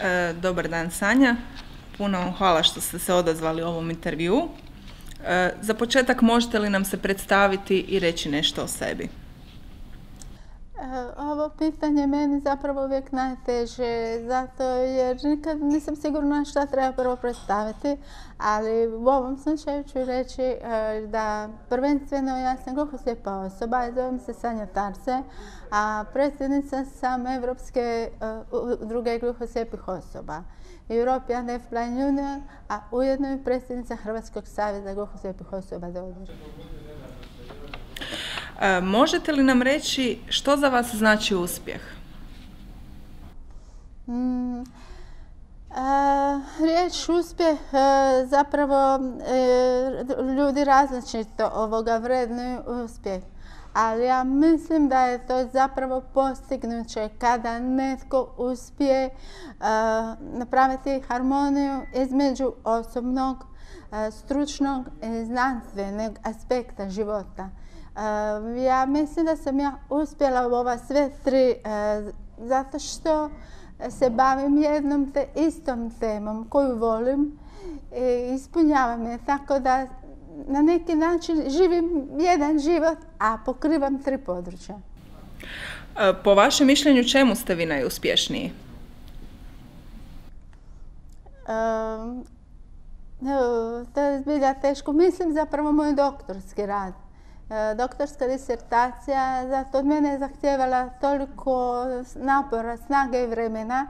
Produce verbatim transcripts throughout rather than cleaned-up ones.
E, dobar dan, Sanja. Puno vam hvala što ste se odazvali ovom intervju. E, za početak možete li nam se predstaviti i reći nešto o sebi? Ovo pitanje meni zapravo uvijek najteže, zato jer nikad nisam sigurna šta treba prvo predstaviti, ali u ovom slučaju ću reći da prvenstveno ja sam gluhoslijepa osoba, zovem se Sanja Tarse, a predsjednica sam Evropske udruge gluhoslijepih osoba, European Deaf Blind Union, a ujedno i predsjednica Hrvatskog saveza gluhoslijepih osoba Dodor. E, možete li nam reći što za vas znači uspjeh? Mm, a, riječ uspjeh a, zapravo e, ljudi različito ovoga vrednuju uspjeh, ali ja mislim da je to zapravo postignuće kada netko uspije a, napraviti harmoniju između osobnog, a, stručnog i znanstvenog aspekta života. Uh, ja mislim da sam ja uspjela u ova sve tri uh, zato što se bavim jednom te istom temom koju volim i ispunjavam je, tako da na neki način živim jedan život, a pokrivam tri područja. Uh, po vašem mišljenju čemu ste vi najuspješniji? Uh, to je zbilja teško. Mislim zapravo moj doktorski rad. Doktorska disertacija, zato od mene je zahtijevala toliko napora, snage i vremena,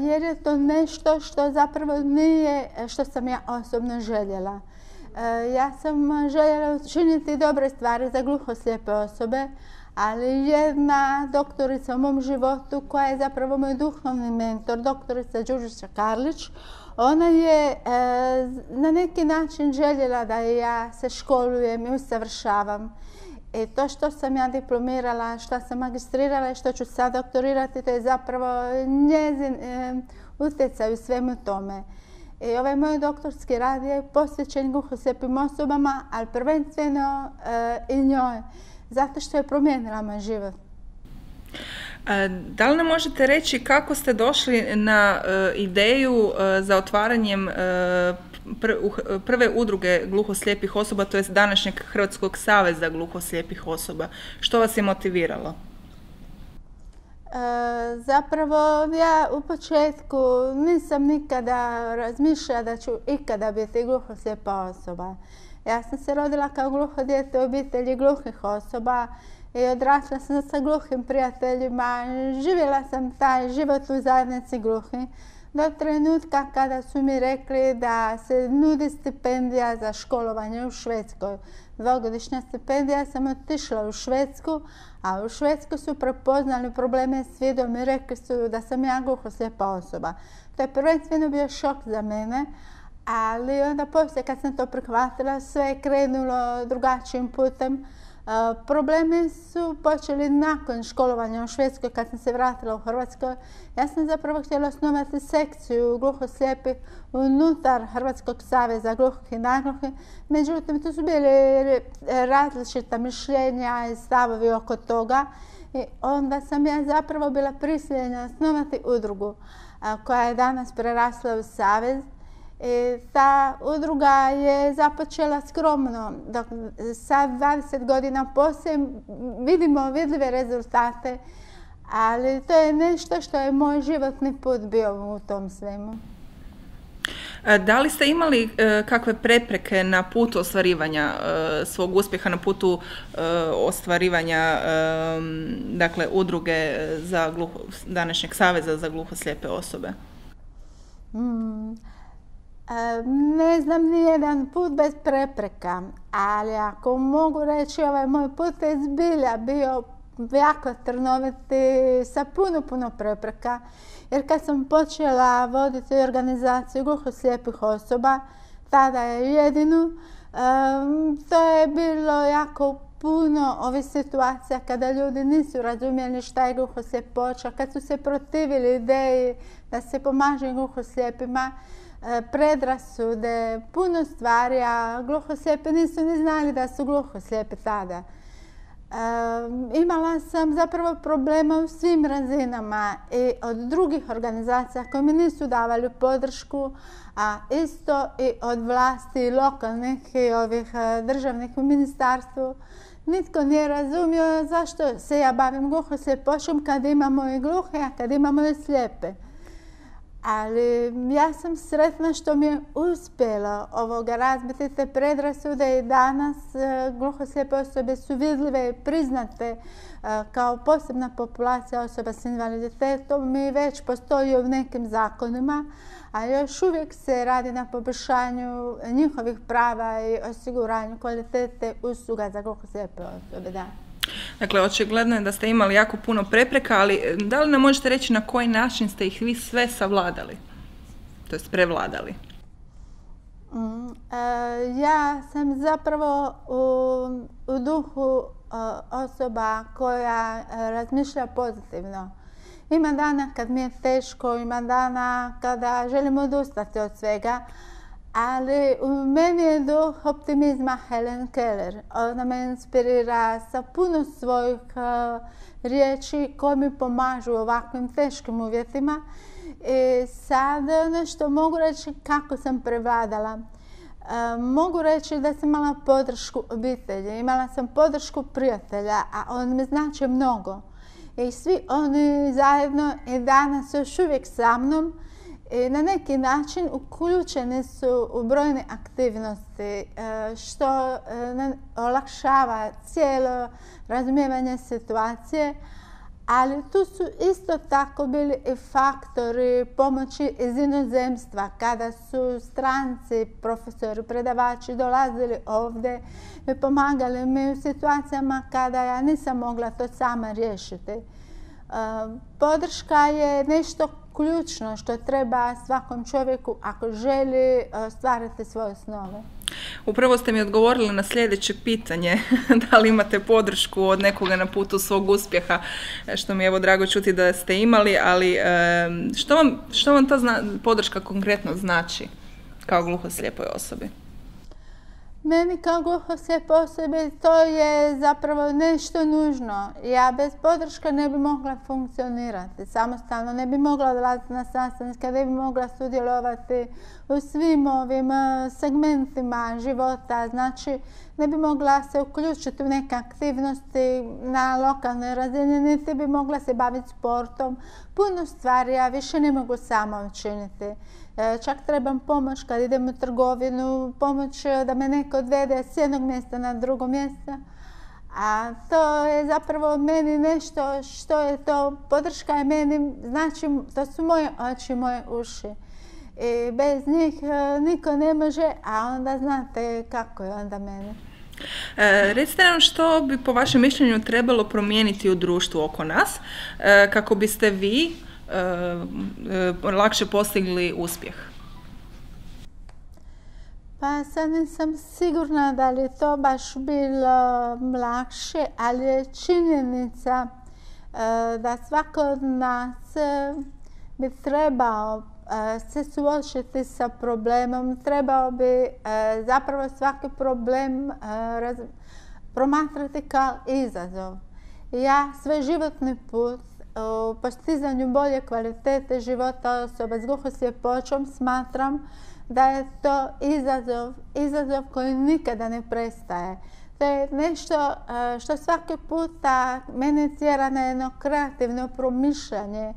jer je to nešto što zapravo nije što sam ja osobno željela. Ja sam željela učiniti dobre stvari za gluhoslijepe osobe, ali jedna doktorica u mom životu koja je zapravo moj duhovni mentor, doktorica Đurđica Karlić, ona je e, na neki način željela da ja se školujem i usavršavam. I to što sam ja diplomirala, što sam magistrirala i što ću sad doktorirati, to je zapravo njezin e, utjecaj u svemu tome. I ovaj moj doktorski rad je posvećen gluhoslijepim osobama, ali prvenstveno e, i njoj, zato što je promijenila moj život. Da li nam možete reći kako ste došli na uh, ideju uh, za otvaranjem uh, pr prve udruge gluhoslijepih osoba, to jest današnjeg Hrvatskog saveza gluhoslijepih osoba? Što vas je motiviralo? E, zapravo ja u početku nisam nikada razmišljala da ću ikada biti gluhoslijepa osoba. Ja sam se rodila kao gluho dijete u obitelji gluhih osoba i odrasla sam sa gluhim prijateljima. Živjela sam taj život u zajednici gluhih do trenutka kada su mi rekli da se nudi stipendija za školovanje u Švedskoj. Dvogodišnja stipendija, sam otišla u Švedsku, a u Švedsku su prepoznali probleme s vidom i rekli su da sam ja gluhoslijepa osoba. To je prvenstveno bio šok za mene, ali onda poslije kad sam to prihvatila, sve je krenulo drugačijim putem. Uh, problemi su počeli nakon školovanja u Švedskoj, kad sam se vratila u Hrvatskoj. Ja sam zapravo htjela osnovati sekciju gluhoslijepih unutar Hrvatskog saveza gluhih i nagluhih. Međutim, tu su bili različita mišljenja i stavovi oko toga. I onda sam ja zapravo bila prisiljena osnovati udrugu uh, koja je danas prerasla u savez. I ta udruga je započela skromno, dok sad dvadeset godina poslije vidimo vidljive rezultate, ali to je nešto što je moj životni put bio u tom svemu. Da li ste imali e, kakve prepreke na putu ostvarivanja e, svog uspjeha, na putu e, ostvarivanja e, dakle, udruge za gluho, današnjeg saveza za gluhoslijepe osobe? Mm. Ne znam ni jedan put bez prepreka, ali ako mogu reći, ovaj moj put je zbilja bio jako trnoviti, sa puno, puno prepreka. Jer kad sam počela voditi organizaciju gluhoslijepih osoba, tada je jedinu, to je bilo jako puno ovih situacija kada ljudi nisu razumjeli šta je gluhosljepoća, kad su se protivili ideji da se pomaže gluhoslijepima, predrasude, puno stvari, a gluhoslijepi nisu ni znali da su gluhoslijepi tada. Imala sam zapravo problema u svim razinama i od drugih organizacija koje mi nisu davali podršku, a isto i od vlasti lokalnih i ovih državnih u ministarstvu. Nitko nije razumio zašto se ja bavim gluhoslijepoćom kad imamo i gluhe, a kad imamo i slijepe. Ali ja sam sretna što mi je uspjelo ovoga razbiti te predrasude i danas gluhoslijepe osobe su vidljive i priznate kao posebna populacija osoba s invaliditetom i već postoji u nekim zakonima, a još uvijek se radi na poboljšanju njihovih prava i osiguranju kvalitete usluga za gluhoslijepe osobe. Da. Dakle, očigledno je da ste imali jako puno prepreka, ali da li nam možete reći na koji način ste ih vi sve savladali, to jest prevladali? Mm, e, ja sam zapravo u, u duhu e, osoba koja razmišlja pozitivno. Ima dana kad mi je teško, ima dana kada želim odustati od svega, ali u meni je duh optimizma Helen Keller. Ona me inspirira sa puno svojih uh, riječi koje mi pomažu u ovakvim teškim uvjetima. I sad nešto mogu reći kako sam prevladala. Uh, mogu reći da sam imala podršku obitelji, imala sam podršku prijatelja, a on mi znači mnogo. I svi oni zajedno i danas još uvijek sa mnom. I na neki način uključeni su u brojne aktivnosti što olakšava cijelo razumijevanje situacije, ali tu su isto tako bili i faktori pomoći iz inozemstva kada su stranci, profesori, predavači dolazili ovdje i pomagali mi u situacijama kada ja nisam mogla to sama riješiti. Podrška je nešto ključno što treba svakom čovjeku ako želi ostvariti svoje snove. Upravo ste mi odgovorili na sljedeće pitanje, da li imate podršku od nekoga na putu svog uspjeha, što mi je evo drago čuti da ste imali, ali što vam, što vam ta zna, podrška konkretno znači kao gluhoslijepoj osobi? Meni kao gluhoslijepoj osobi to je zapravo nešto nužno. Ja bez podrške ne bi mogla funkcionirati samostalno, ne bi mogla dolaziti na sastanke, ne bi mogla sudjelovati u svim ovim segmentima života. Znači, ne bi mogla se uključiti u neke aktivnosti na lokalnoj razini, niti bi mogla se baviti sportom. Puno stvari ja više ne mogu sama učiniti. Čak trebam pomoć kad idem u trgovinu, pomoć da me neko odvede s jednog mjesta na drugo mjesto. A to je zapravo meni nešto što je to, podrška je meni, znači to su moje oči, moje uši. I bez njih niko ne može, a onda znate kako je onda meni. E, recite nam što bi po vašem mišljenju trebalo promijeniti u društvu oko nas e, kako biste vi e, e, lakše postigli uspjeh? Pa sad nisam sigurna da li to baš bilo lakše, ali je činjenica e, da svako od nas e, bi trebao e, se suočiti sa problemom, trebao bi e, zapravo svaki problem e, raz, promatrati kao izazov. Ja svoj životni put u postizanju bolje kvalitete života osoba s gluhosljepoćom smatram da je to izazov, izazov koji nikada ne prestaje. To je nešto što svaki puta mene tjera na jedno kreativno promišljanje.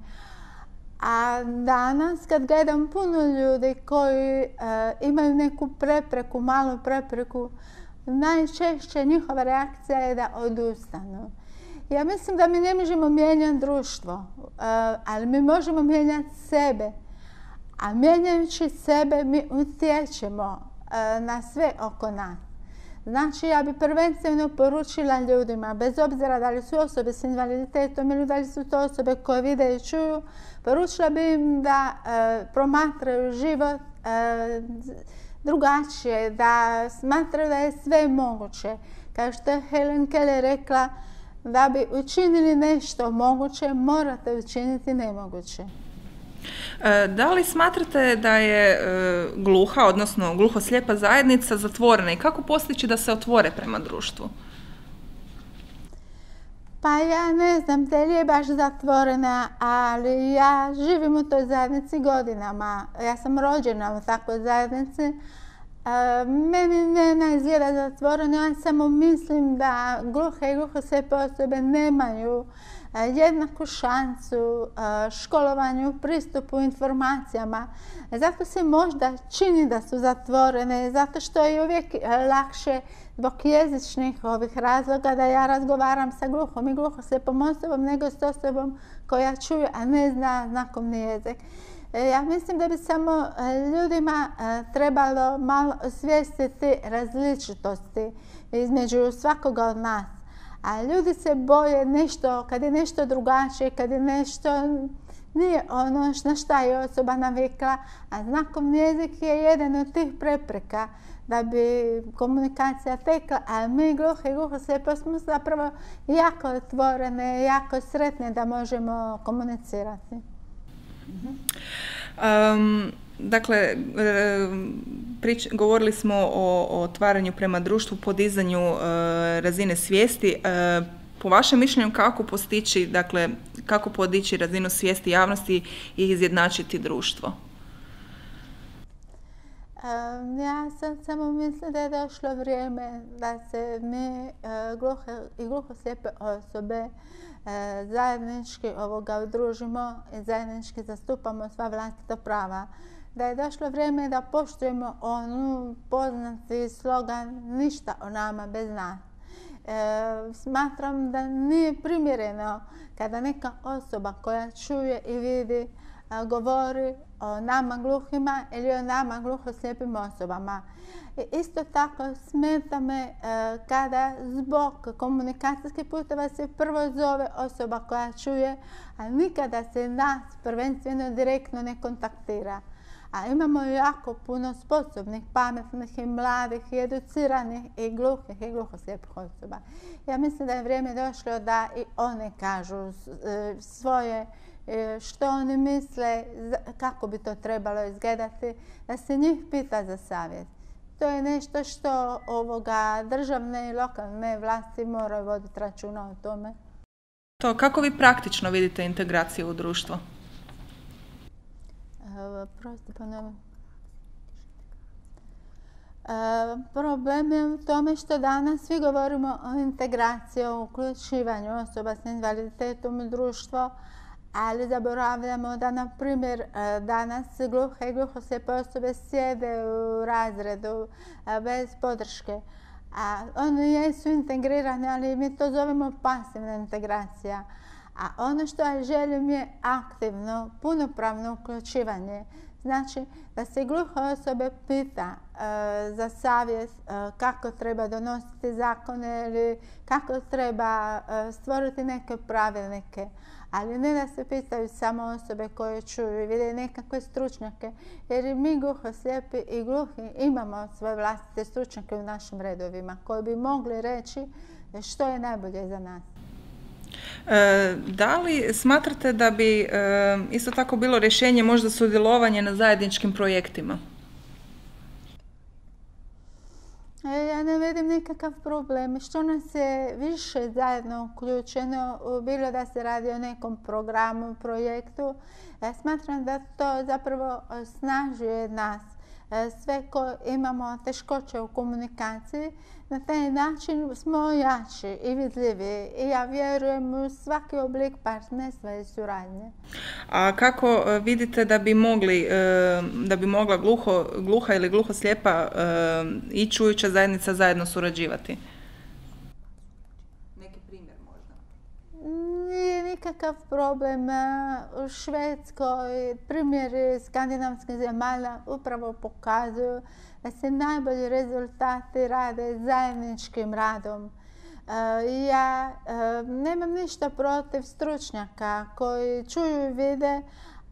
A danas kad gledam puno ljudi koji uh, imaju neku prepreku, malu prepreku, najčešće njihova reakcija je da odustanu. Ja mislim da mi ne možemo mijenjati društvo, uh, ali mi možemo mijenjati sebe. A mijenjajući sebe mi utječemo uh, na sve oko nas. Znači, ja bi prvenstveno poručila ljudima, bez obzira da li su osobe s invaliditetom ili da li su to osobe koje vide i čuju, poručila bi im da e, promatraju život e, drugačije, da smatraju da je sve moguće. Kao što je Helen Keller rekla, da bi učinili nešto moguće, morate učiniti nemoguće. Da li smatrate da je e, gluha, odnosno gluhoslijepa zajednica zatvorena i kako postići da se otvore prema društvu? Pa ja ne znam, da li je baš zatvorena, ali ja živim u toj zajednici godinama. Ja sam rođena u takvoj zajednici. E, meni ne izgleda zatvoreno, ja samo mislim da gluhe i gluhoslijepe osobe nemaju jednaku šansu školovanju, pristupu informacijama. Zato se možda čini da su zatvorene, zato što je uvijek lakše zbog jezičnih ovih razloga da ja razgovaram sa gluhom i gluhoslijepom osobom nego s osobom koja čuje, a ne zna znakovni jezik. Ja mislim da bi samo ljudima trebalo malo osvijestiti različitosti između svakoga od nas. A ljudi se boje nešto, kad je nešto drugačije, kad je nešto nije ono na šta je osoba navikla, a znakovni jezik je jedan od tih prepreka da bi komunikacija tekla, a mi gluhi i gluhoslijepi smo zapravo jako otvorene, jako sretne da možemo komunicirati. Um, dakle, prič, govorili smo o, o otvaranju prema društvu, podizanju e, razine svijesti. E, po vašem mišljenju kako postići, dakle, kako podići razinu svijesti javnosti i izjednačiti društvo? Um, ja sam samo mislim da je došlo vrijeme da se mi e, gluhe i gluhoslijepe osobe e, zajednički ovoga udružimo i zajednički zastupamo sva vlastita prava. Da je došlo vrijeme da poštujemo onu poznati slogan ništa o nama bez nas. E, smatram da nije primjereno kada neka osoba koja čuje i vidi a, govori o nama gluhima ili o nama gluhoslijepim osobama. I isto tako smeta me e, kada zbog komunikacijskih puteva se prvo zove osoba koja čuje, a nikada se nas prvenstveno direktno ne kontaktira. A imamo jako puno sposobnih, pametnih i mladih i educiranih i gluhih i gluhoslijepih osoba. Ja mislim da je vrijeme došlo da i one kažu svoje što oni misle, kako bi to trebalo izgledati, da se njih pita za savjet. To je nešto što ovoga državne i lokalne vlasti moraju voditi računa o tome. To, kako vi praktično vidite integraciju u društvo? Prosti ponovim. Problem je u tome što danas svi govorimo o integraciji, o uključivanju osoba s invaliditetom u društvo, ali zaboravljamo da, na primjer, danas gluhe i gluhoslijepe osobe sjede u razredu bez podrške. A oni jesu integrirani, ali mi to zovemo pasivna integracija. A ono što ja želim je aktivno, punopravno uključivanje. Znači da se gluhe osobe pita e, za savjet e, kako treba donositi zakone ili kako treba e, stvoriti neke pravilnike. Ali ne da se pitaju samo osobe koje čuju i vide nekakve stručnjake. Jer mi gluhoslijepi i gluhi imamo svoje vlastite stručnjake u našim redovima koji bi mogli reći što je najbolje za nas. E, da li smatrate da bi e, isto tako bilo rješenje možda sudjelovanje na zajedničkim projektima? Ja ne vidim nikakav problem. Što nas je više zajedno uključeno, bilo da se radi o nekom programu, projektu, ja smatram da to zapravo osnažuje nas. Sve ko imamo teškoće u komunikaciji, na taj način smo jači i vidljivi i ja vjerujem u svaki oblik partnerstva i suradnje. A kako vidite da bi mogli, da bi mogla gluho, gluha ili gluhoslijepa i čujuća zajednica zajedno surađivati? Neki primjer možda? Nije nikakav problem. U Švedskoj primjeri skandinavskih zemalja upravo pokazuju da se najbolji rezultati rade zajedničkim radom. Ja nemam ništa protiv stručnjaka koji čuju i vide,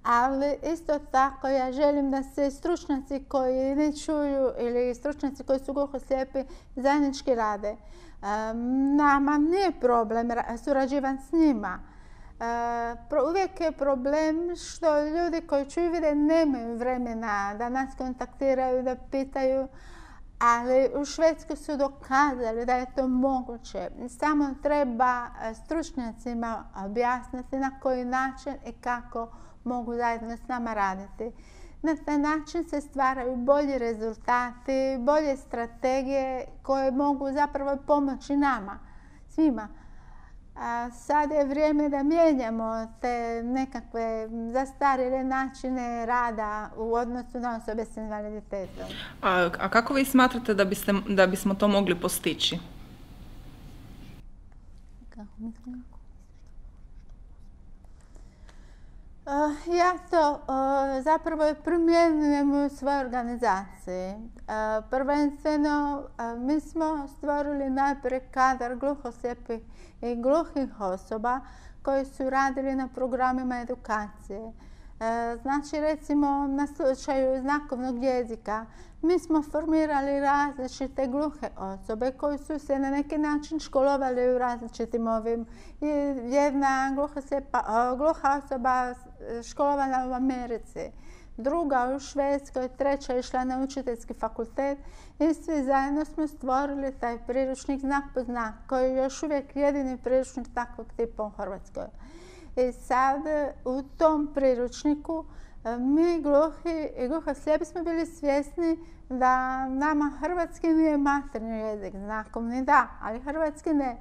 ali isto tako ja želim da se stručnjaci koji ne čuju ili stručnjaci koji su gluhoslijepi zajednički rade. Nama nije problem surađivati s njima. Uvijek je problem što ljudi koji čuju i vide nemaju vremena da nas kontaktiraju, da pitaju, Ali u Švedskoj su dokazali da je to moguće. Samo treba stručnjacima objasniti na koji način i kako mogu zajedno s nama raditi. Na taj način se stvaraju bolji rezultati, bolje strategije koje mogu zapravo pomoći nama, svima. A sad je vrijeme da mijenjamo te nekakve zastarjele načine rada u odnosu na osobe s invaliditetom. A, a kako vi smatrate da, biste, da bismo to mogli postići? Kako mislim? Uh, ja to uh, zapravo primjenjujem u svojoj organizaciji. Uh, prvenstveno uh, mi smo stvorili najprije kadar gluhoslijepih i gluhih osoba koji su radili na programima edukacije. Uh, znači recimo na slučaju znakovnog jezika mi smo formirali različite gluhe osobe koji su se na neki način školovali u različitim ovim. Jedna gluha, gluha osoba školovana u Americi, druga u Švedskoj, treća išla na učiteljski fakultet i svi zajedno smo stvorili taj priručnik znak po znak koji je još uvijek jedini priručnik takvog tipa u Hrvatskoj. I sad u tom priručniku mi gluhi i gluhoslijepi smo bili svjesni da nama hrvatski nije materinji jezik, znakovni da, ali hrvatski ne.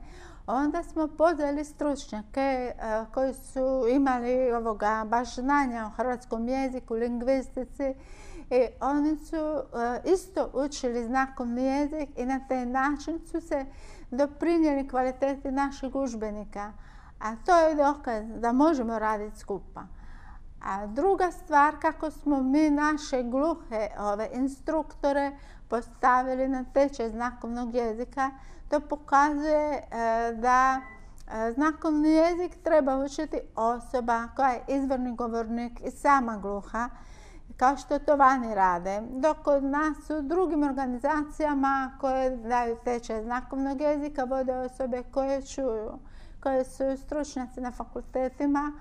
Onda smo pozvali stručnjake uh, koji su imali ovoga baš znanja o hrvatskom jeziku, lingvistici i oni su uh, isto učili znakovni jezik i na taj način su se doprinijeli kvaliteti naših udžbenika. A to je dokaz da možemo raditi skupa. A druga stvar, kako smo mi naše gluhe ove instruktore postavili na tečaj znakovnog jezika, to pokazuje e, da e, znakovni jezik treba učiti osoba koja je izvorni govornik i sama gluha, kao što to vani rade. Dok kod nas u drugim organizacijama koje daju tečaj znakovnog jezika vode osobe koje čuju, koje su stručnjaci na fakultetima,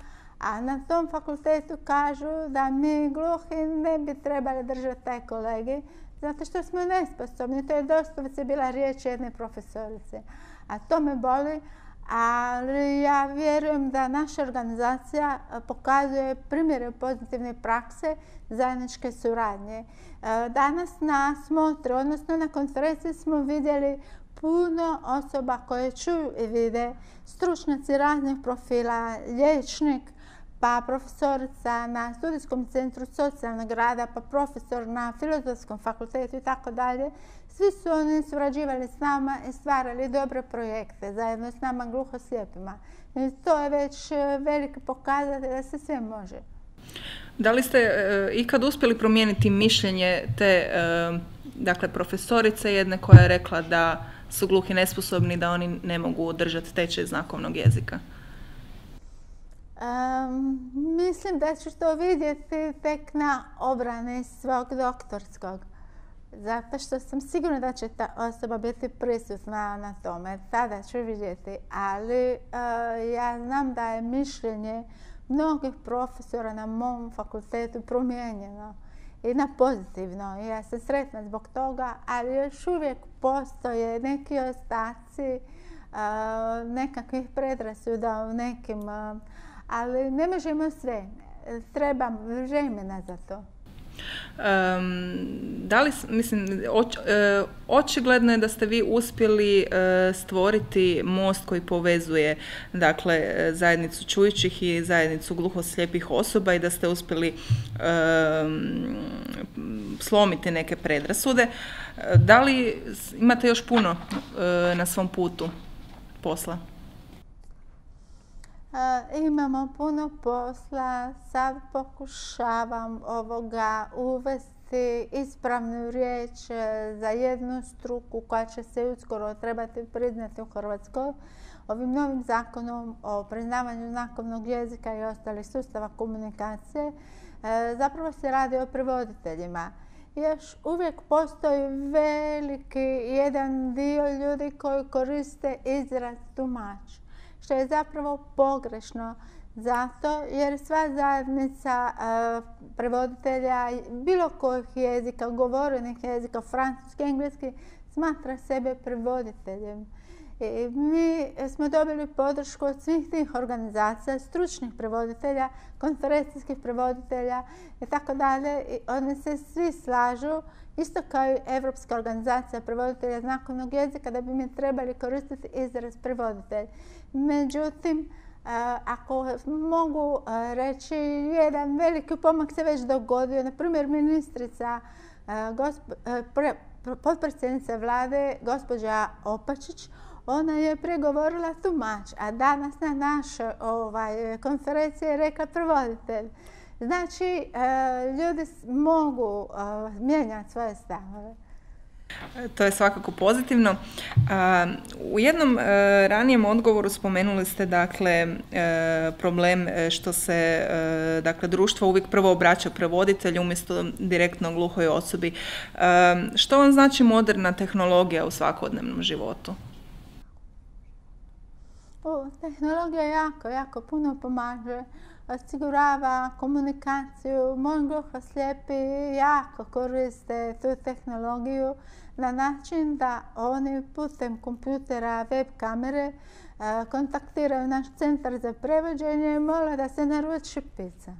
a na tom fakultetu kažu da mi gluhi ne bi trebali držati taj kolegij, zato što smo nesposobni. To je doslovce bila riječ jedne profesorice. A to me boli, ali ja vjerujem da naša organizacija pokazuje primjere pozitivne prakse zajedničke suradnje. Danas na smotri, odnosno na konferenciji smo vidjeli puno osoba koje čuju i vide, stručnjaci raznih profila, liječnik, pa profesorica na studijskom centru socijalnog rada, pa profesor na filozofskom fakultetu i tako dalje. Svi su oni surađivali s nama i stvarali dobre projekte zajedno s nama gluhoslijepima. I to je već veliki pokazatelj da se sve može. Da li ste e, ikad uspjeli promijeniti mišljenje te e, dakle, profesorice jedne koja je rekla da su gluhi nesposobni, da oni ne mogu držati tečaj znakovnog jezika? Um, mislim da ću to vidjeti tek na obrani svog doktorskog. Zato što sam sigurna da će ta osoba biti prisutna na tome. Tada ću vidjeti. Ali uh, ja znam da je mišljenje mnogih profesora na mom fakultetu promijenjeno i na pozitivno. Ja sam sretna zbog toga, ali još uvijek postoje neki ostaci uh, nekakvih predrasuda u nekim, uh, ali ne možemo sve. Treba vremena za to. Um, da li, mislim, oč, e, očigledno je da ste vi uspjeli e, stvoriti most koji povezuje, dakle, zajednicu čujućih i zajednicu gluhoslijepih osoba i da ste uspjeli e, slomiti neke predrasude. Da li imate još puno e, na svom putu posla? E, imamo puno posla, sad pokušavam ovoga uvesti ispravnu riječ za jednu struku koja će se uskoro trebati priznati u Hrvatskoj. Ovim novim zakonom o priznavanju znakovnog jezika i ostalih sustava komunikacije e, zapravo se radi o prevoditeljima. Još uvijek postoji veliki jedan dio ljudi koji koriste izraz tumač, što je zapravo pogrešno, Zato jer sva zajednica prevoditelja bilo kojih jezika, govorenih jezika, francuski, engleski, smatra sebe prevoditeljem. I mi smo dobili podršku od svih tih organizacija, stručnih prevoditelja, konferencijskih prevoditelja i tako dalje. Oni se svi slažu, isto kao i Evropska organizacija prevoditelja znakovnog jezika, da bi mi trebali koristiti izraz prevoditelj. Međutim, ako mogu reći, jedan veliki pomak se već dogodio. Na primjer, ministrica, potpredsjednica vlade, gospođa Opačić, ona je pregovorila tumač, a danas na našoj ovaj, konferenciji je rekla prevoditelj. Znači, ljudi mogu mijenjati svoje stavove. To je svakako pozitivno. U jednom ranijem odgovoru spomenuli ste dakle problem što se dakle društvo uvijek prvo obraća prevoditelju umjesto direktno gluhoj osobi. Što vam znači moderna tehnologija u svakodnevnom životu? O, tehnologija jako, jako puno pomaže. Osigurava komunikaciju. Moji gluhoslijepi jako koriste tu tehnologiju na način da oni putem kompjutera, web kamere kontaktiraju naš centar za prevođenje i mole da se naruči pizza.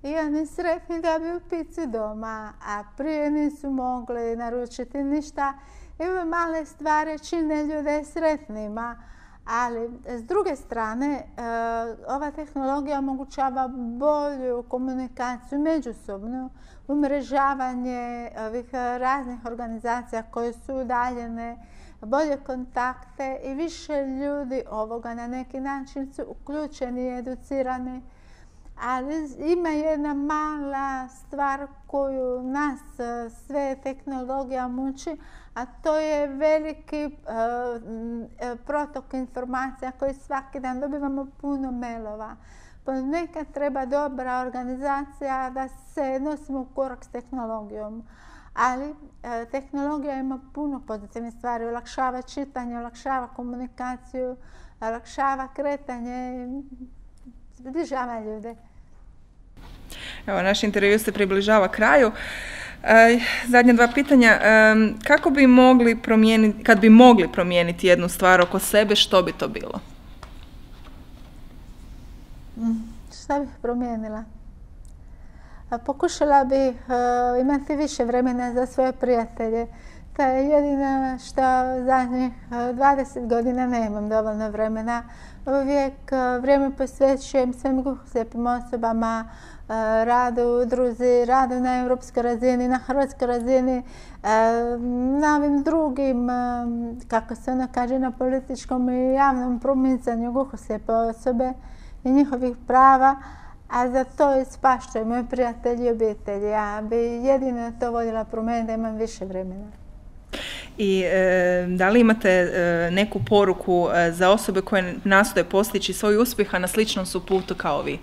I oni sretni dobiju picu doma, a prije nisu mogli naručiti ništa. I ove male stvari čine ljude sretnima. Ali, s druge strane, ova tehnologija omogućava bolju komunikaciju međusobnu, umrežavanje ovih raznih organizacija koje su udaljene, bolje kontakte i više ljudi ovoga na neki način su uključeni i educirani. Ali ima jedna mala stvar koju nas sve tehnologija muči, a to je veliki uh, protok informacija koji svaki dan dobivamo puno mailova. Ponekad treba dobra organizacija da se nosimo u korak s tehnologijom. Ali uh, tehnologija ima puno pozitivnih stvari. Olakšava čitanje, olakšava komunikaciju, olakšava kretanje, zbližava ljude. Evo, naš intervju se približava kraju. Zadnje dva pitanja. Kako bi mogli promijeniti, kad bi mogli promijeniti jednu stvar oko sebe, što bi to bilo? Šta bih promijenila? Pokušala bih imati više vremena za svoje prijatelje. To je jedino što zadnjih dvadeset godina nemam dovoljno vremena. Uvijek vrijeme posvećujem svim gluhoslijepim osobama, radu u udruzi, radu na europskoj razini, na hrvatskoj razini, na ovim drugim, kako se ono kaže, na političkom i javnom promicanju gluhoslijepe osobe i njihovih prava, a za to ispaštuju moji prijatelji i obitelji. Ja bi jedino to voljela promijeniti da imam više vremena. I e, da li imate e, neku poruku e, za osobe koje nastoje postići svoj uspjeh, a na sličnom su putu kao vi?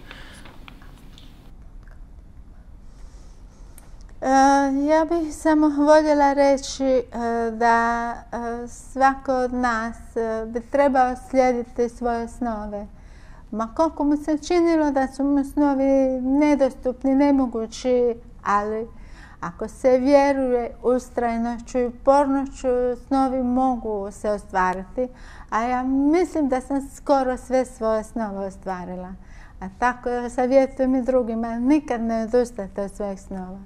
Ja bih samo voljela reći da svako od nas bi trebao slijediti svoje snove. Ma koliko mu se činilo da su mu snovi nedostupni, nemogući, ali ako se vjeruje ustrajnošću i upornošću, snovi mogu se ostvariti. A ja mislim da sam skoro sve svoje snove ostvarila. A tako savjetujem i drugima, nikad ne odustajte od svojih snova.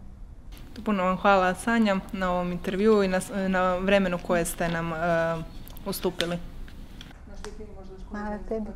Puno vam hvala, Sanja, na ovom intervjuu i na, na vremenu koje ste nam uh, ustupili. Hvala tebi.